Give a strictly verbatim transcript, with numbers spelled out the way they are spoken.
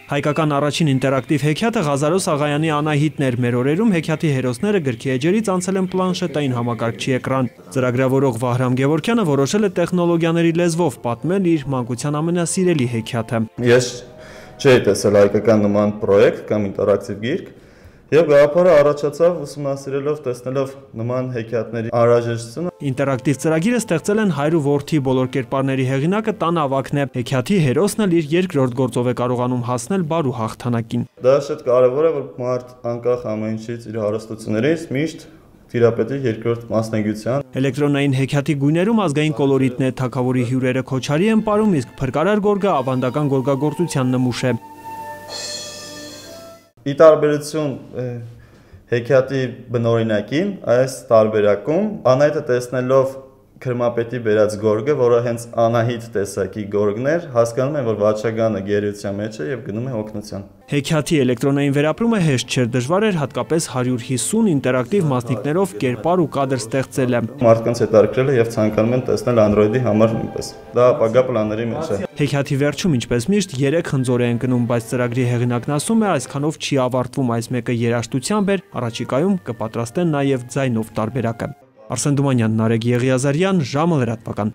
Հայկական առաջին ինտերակտիվ հեքիաթը Ղազարոս Աղայանի Անահիտն էր։ Մեր օրերում հեքիաթի հերոսները գրքի էջերից անցել են պլանշետային համակարգչի էկրան։ Ծրագրավորող Վահրամ Գևորգյանը որոշել է տեխնոլոգիաների լեզվով պատմել իր մանկության ամենասիրելի հեքիաթը։ Ես չէի տեսել հայկական նման պրոյեկտ կամ ինտերակտիվ գիրք, եւ գաղափարը առաջացավ ուսումնասիրելով, տեսնելով նման հեքիաթների անհրաժեշտությունը։ Ինտերակտիվ ծրագիրը ստեղծել են հայր ու որդի, բոլոր կերպարների հեղինակը Տան Ավագն է։ Հեքիաթի հերոսն էլ իր երկրորդ գործով է կարողանում հասնել բարու հաղթանակին։ Դա շատ կարևոր է, որ մարդ անկախ ամեն ինչից իր հարստություններից միշտ տիրապետի երկրորդ մասնագիտության։ Էլեկտրոնային հեքիաթի գույներում ազգային կոլորիտն է, թագավորի հյուրերը քոչարի են պարում, իսկ փրկարար գորգը ավանդական գորգագործության նմուշ է։ Ի տարբերություն հեքիաթի բնօրինակին, այս տարբերակում Անահիտը տեսնելով քրմապետի բերած գորգը, որը հենց Անահիտ տեսակի գորգն էր, հասկանում են, որ վաճառականը գերության մեջ է եւ գնում է օգնության։ Հեքիաթի էլեկտրոնային վերապրումը հեշտ չէր, դժվար էր հատկապես հարյուր հիսուն ինտերակտիվ մասնիկներով կերպար ու կադր ստեղծելը։ Մարդկանց հետաքրքրել է եւ ցանկանում են տեսնել Android-ի համար նույնպես։ Դա ապագա պլանների մեջ է։ Հեքիաթի վերջում, ինչպես միշտ, երեք խնձոր է ընկնում, բայց ծրագրի հեղինակն ասում է, այսքանով չի ավարտվում, այս մեկը երաժշտությամբ էր, առաջիկայում կպատրաստեն նաեւ ձայնով տարբերակը։ Արսեն Դումանյան, Նարեկ Եղիազարյան, ժամը լրատվական։